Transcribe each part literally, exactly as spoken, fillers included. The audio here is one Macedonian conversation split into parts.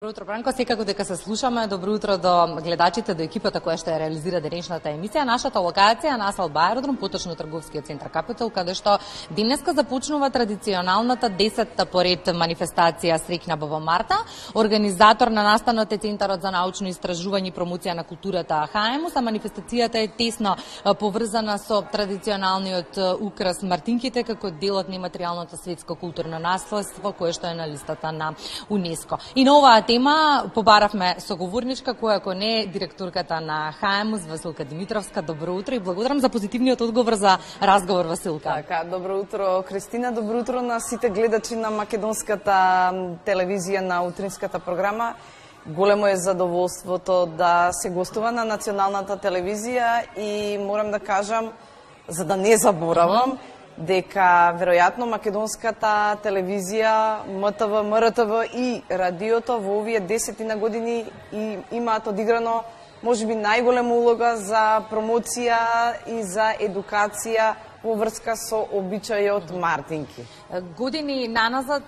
Добро утро, Бранко. Секако дека се слушаме. Добро утро до гледачите, до екипата која ще реализира денешната емисија. Нашата локација на Асфалт Аеродром, поточно трговскиот центар Капитол, каде што денеска започнува традиционалната десетта поред манифестација Среќна Баба Марта. Организатор на настанот е Центарот за научно истражување и промоција на културата ХАЕМУС, а манифестацијата е тесно поврзана со традиционалниот украс мартинките како дел од нематеријалното светско културно наследство кое што е на листата на УНЕСКО. И на оваа тема побаравме соговорничка која ако не е директорката на ХАЕМУС Василка Димитровска. Добро утро и благодарам за позитивниот одговор за разговор, Василка. Така, добро утро, Кристина, добро утро на сите гледачи на македонската телевизија на утринската програма. Големо е задоволството да се гостува на националната телевизија и морам да кажам, за да не заборавам, дека веројатно македонската телевизија, МТВ, МРТВ и радиото во овие десетина години и имаат одиграно можеби најголема улога за промоција и за едукација во врска со обичајот мартинки. Години наназад,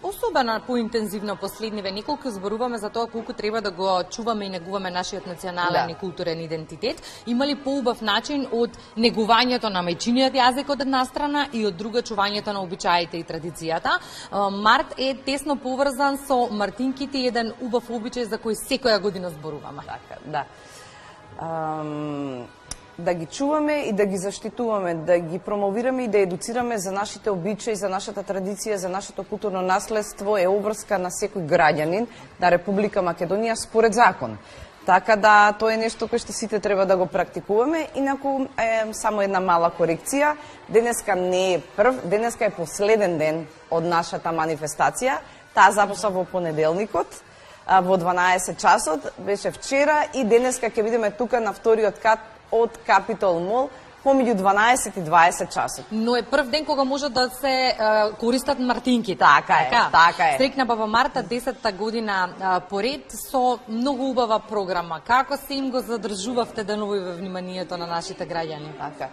особено поинтензивно последниве неколку, зборуваме за тоа колку треба да го чуваме и негуваме нашиот национален да. и културен идентитет. Има ли поубав начин од негувањето на мајчиниот јазик од една страна и од друга чувањето на обичаите и традицијата? Март е тесно поврзан со мартинките, еден убав обичај за кој секоја година зборуваме. Така, да. Um... да ги чуваме и да ги заштитуваме, да ги промовираме и да едуцираме за нашите обичаи, за нашата традиција, за нашето културно наследство е обврска на секој граѓанин на Република Македонија според закон. Така да, тоа е нешто кое што сите треба да го практикуваме. Инаку, е, само една мала корекција. Денеска не е прв, денеска е последен ден од нашата манифестација. Таа започна во понеделникот, во дванаесет часот, беше вчера и денеска ќе бидеме тука на вториот кат од Капитол Мол помеѓу дванаесет и дваесет часот. Но е прв ден кога може да се е, користат мартинките. Така е, така, така е. Среќна Баба Марта, десетта година е, поред со многу убава програма. Како се им го задржувавте денови во вниманието на нашите граѓани? Така.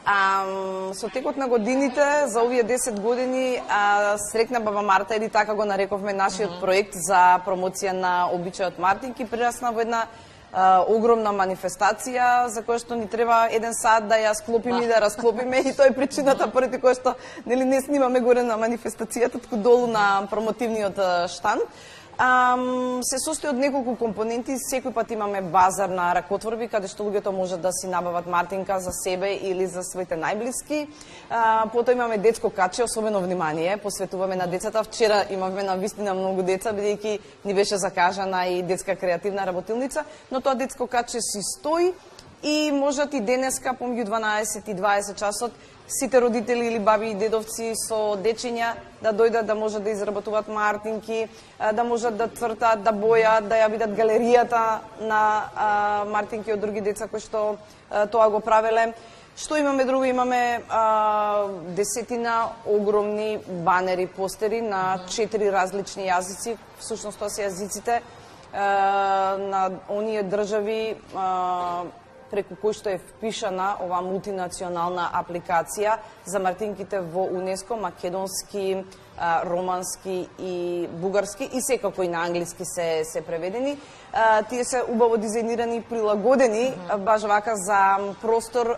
А, со текот на годините, за овие десет години, а, Среќна Баба Марта, или така го нарековме нашиот mm -hmm. проект за промоција на обичајот мартинки, прерасна во една Uh, огромна манифестација за која што ни треба еден сат да ја склопиме и да расклопиме и тоа е причината поради која што нели не снимаме горе на манифестацијата, туку долу на промотивниот штанд. Um, се состои од неколку компоненти, секој пат имаме базар на ракотворби каде што луѓето можат да си набават мартинка за себе или за своите најблиски. Uh, потоа имаме детско каче, особено внимание посветуваме на децата. Вчера имавме на вистина многу деца, бидејќи ни беше закажана и детска креативна работилница, но тоа детско каче си стои и можат и денеска помеѓу дванаесет и дваесет часот сите родители или баби и дедовци со дечиња да дојдат, да можат да изработуваат мартинки, да можат да цртаат, да бојат, да ја видат галеријата на а, мартинки од други деца кои што а, тоа го правеле. Што имаме друго? Имаме а, десетина огромни банери, постери на четири различни јазици, всушност тоа се јазиците а, на оние држави а, преку кој што е впишана оваа мултинационална апликација за мартинките во УНЕСКО, македонски, романски и бугарски и секако и на англиски се се преведени. Тие се убаво дизајнирани и прилагодени баш вака за простор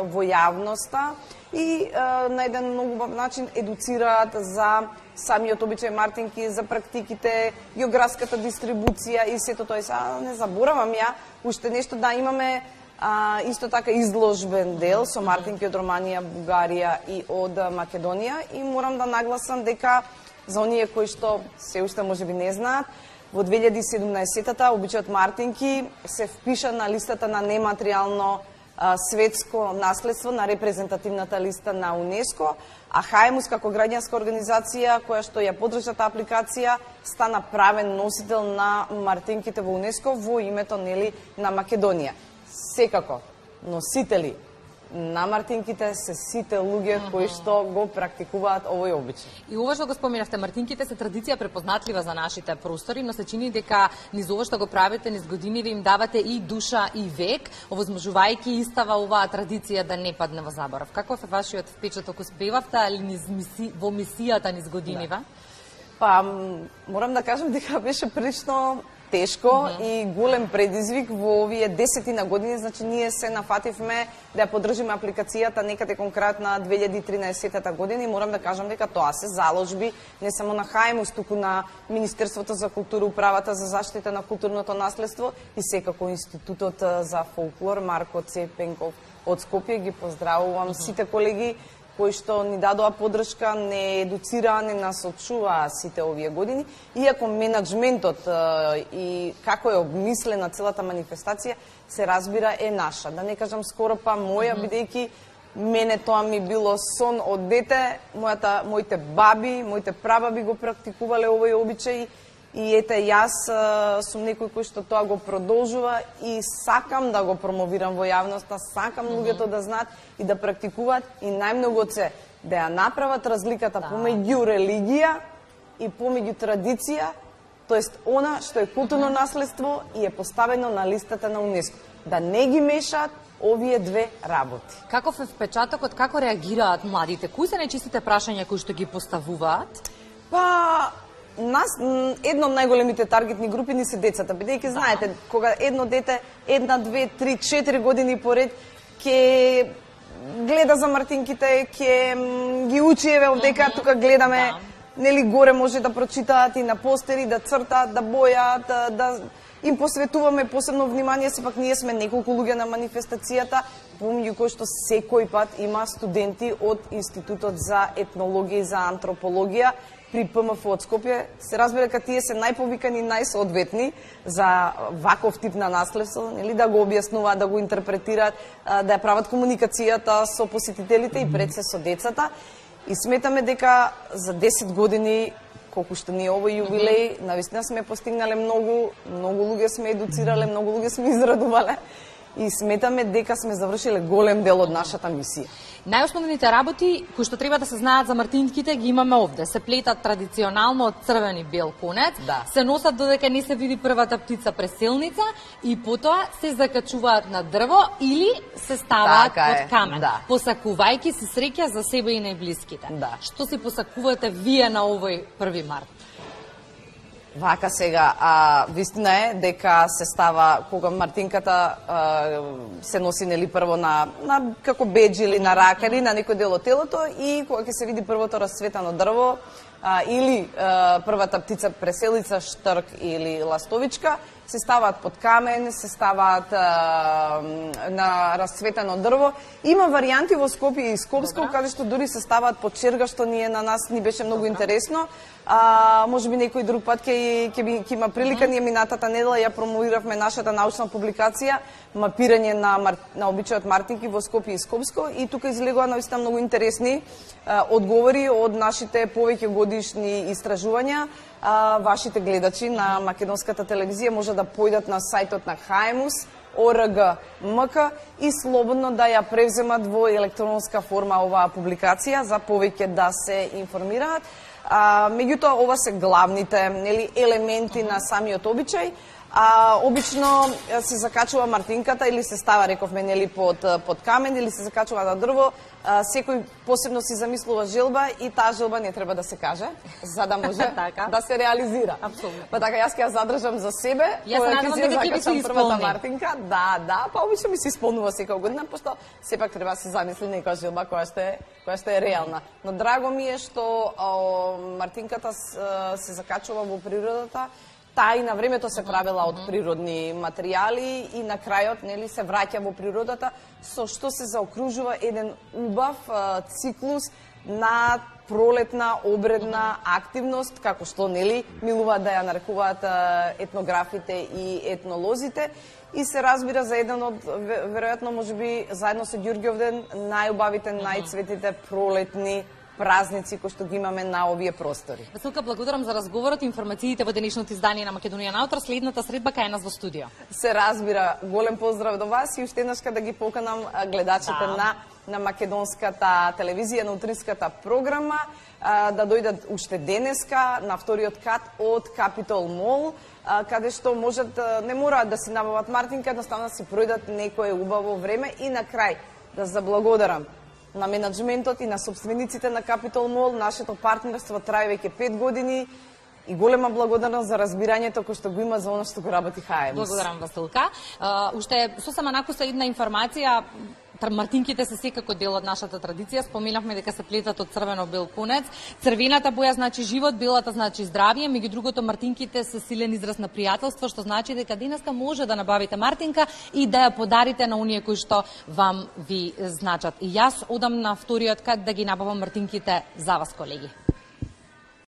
во јавноста и на еден многу убав начин едуцираат за самиот обичај мартинки, за практиките, географската дистрибуција и сето тоа. Са не заборавам ја уште нешто, да имаме А, исто така изложбен дел со мартинки од Романија, Бугарија и од Македонија и морам да нагласам дека за оние кои што се уште можеби не знаат, во две илјади и седумнаесетта обичајот мартинки се впиша на листата на нематеријално а, светско наследство, на репрезентативната листа на УНЕСКО, а ХАЕМУС како граѓанска организација која што ја поддржа таа апликација стана правен носител на мартинките во УНЕСКО во името нели на Македонија. Секако, носители на мартинките се сите луѓе кои што го практикуваат овој обичај. И ова што го споменавте, мартинките се традиција препознатлива за нашите простори, но се чини дека низ ова што го правите низ години ви им давате и душа и век, овозможувајќи истава оваа традиција да не падне во заборав. Каков е вашиот впечаток? Успевавте ли низ миси, во мисијата низ годинива? Да. Па, морам да кажам дека беше прилично тешко mm -hmm. и голем предизвик во овие десетина години, значи ние се нафативме да ја подржиме апликацијата некаде конкретно на две илјади и тринаесетта година и морам да кажам дека тоа се заложби не само на Хаимус, туку на Министерството за култура, Управата за заштита на културното наследство и секако Институтот за фолклор Марко Цепенков од Скопје. Ги поздравувам mm -hmm. сите колеги кои што ни дадоа поддршка, не едуцираа, не насочуваа сите овие години, иако менаџментот и како е обмислена целата манифестација, се разбира е наша. Да не кажам скоро па моја, бидејќи мене тоа ми било сон од дете, мојата, моите баби, моите прабаби го практикувале овој обичај, и ете, јас сум некој кој што тоа го продолжува и сакам да го промовирам во јавноста, сакам луѓето да знаат и да практикуваат и најмногу се да ја направат разликата да. помеѓу религија и помеѓу традиција, тоест она што е културно наследство и е поставено на листата на УНЕСКО. Да не ги мешаат овие две работи. Каков е впечатокот, како реагираат младите? Кои се најчистите прашања кои што ги поставуваат? Па, нас, едно од најголемите таргетни групи ни се децата, бидејќи знаете, кога едно дете, една, две, три, четири години поред, ќе гледа за мартинките, ќе ги учи, еве овдека, тука гледаме, нели горе може да прочитаат и на постери, да цртаат, да бојаат, да, да им посветуваме посебно внимание, сепак ние сме неколку луѓе на манифестацијата, помеѓу кои што секој пат има студенти од Институтот за етнологија и за антропологија при П М Ф од Скопје. Се разбира дека тие се најповикани и најсоодветни за ваков тип на наследство, нели, да го објаснуваат, да го интерпретираат, да ја прават комуникацијата со посетителите и пред се со децата. И сметаме дека за десет години, колку што ни е овој јубилеј, навистина сме постигнале многу, многу луѓе сме едуцирале, многу луѓе сме израдувале и сметаме дека сме завршиле голем дел од нашата мисија. Најосновните работи кои што треба да се знаат за мартинките ги имаме овде. Се плетат традиционално од црвен и бел конец, да. Се носат додека не се види првата птица преселница и потоа се закачуваат на дрво или се ставаат така под камен, да. Посакувајќи си среќа за себе и најблиските. Да. Што си посакувате вие на овој први март? Вака сега, а, вистина е дека се става, кога мартинката а, се носи нели прво на, на како бедж или на рака или на некој дел од телото и кога ќе се види првото расцветано дрво а, или а, првата птица преселица, штрк или ластовичка, се ставаат под камен, се ставаат а, на расцветено дрво. Има варијанти во Скопје и Скопско, каде што дури се ставаат под черга, што ние на нас ни беше многу Добра. интересно. А, може би некој друг пат ќе ќе ќе има прилика, ние минатата недела ја промовиравме нашата научна публикација мапирање на мар, на обичајот мартинки во Скопје и Скопско и тука излегоа наистина многу интересни а, одговори од нашите повеќе годишни истражувања. А, вашите гледачи на македонската телевизија може да појдат на сајтот на Хаимус о р г м к и слободно да ја превземат во електронска форма оваа публикација за повеќе да се информираат. А, меѓутоа, ова се главните нели, елементи на самиот обичај. А, обично се закачува мартинката или се става, рековме, нели, под, под камен или се закачува на дрво. А, секој посебно си замислува желба и таа желба не треба да се каже, за да може да се реализира. Апсолутно. Па така, јас ќе ја задржам за себе. Јас се надевам дека ќе се првата мартинка. Да, да, па обично ми се исполнува секоја година, пошто сепак треба да се замисли некоја желба која што е, која што е реална. Но драго ми е што о, мартинката се закачува во природата. Таа и на времето се правела од природни материјали и на крајот нели се враќа во природата, со што се заокружува еден убав а, циклус на пролетна обредна активност, како што нели милуваат да ја нарекуваат а, етнографите и етнолозите. И се разбира за еден од, веројатно, можеби, заедно со Ѓурѓовден, најубавите, најцветите пролетни празници кои што ги имаме на овие простори. Василка, благодарам за разговорот и информациите во денешното издание на Македонија наутро. Следната средба кај нас во студио. Се разбира, голем поздрав до вас и уште еднашка да ги поканам гледачите да. на на македонската телевизија, на утринската програма, да дојдат уште денеска на вториот кат од Capitol Mall, каде што можат, не мораат да си набават мартинка, едноставно да си пројдат некое убаво време и на крај да заблагодарам на менаџментот и на собствениците на Capitol Mall. Нашето партнерство трае веќе пет години и голема благодарност за разбирањето кој што го има за оно што го работи ХАЕМУС. Благодарам, Василка. Uh, уште сосема накуса една информација. Мартинките се секако дел од нашата традиција. Споменавме дека се плетат од црвено-бел кунец. Црвената боја значи живот, белата значи здравје. Меѓу другото, мартинките се силен израз на пријателство, што значи дека денеска може да набавите мартинка и да ја подарите на оние кои што вам ви значат. И јас одам на вториот кат да ги набавам мартинките за вас, колеги.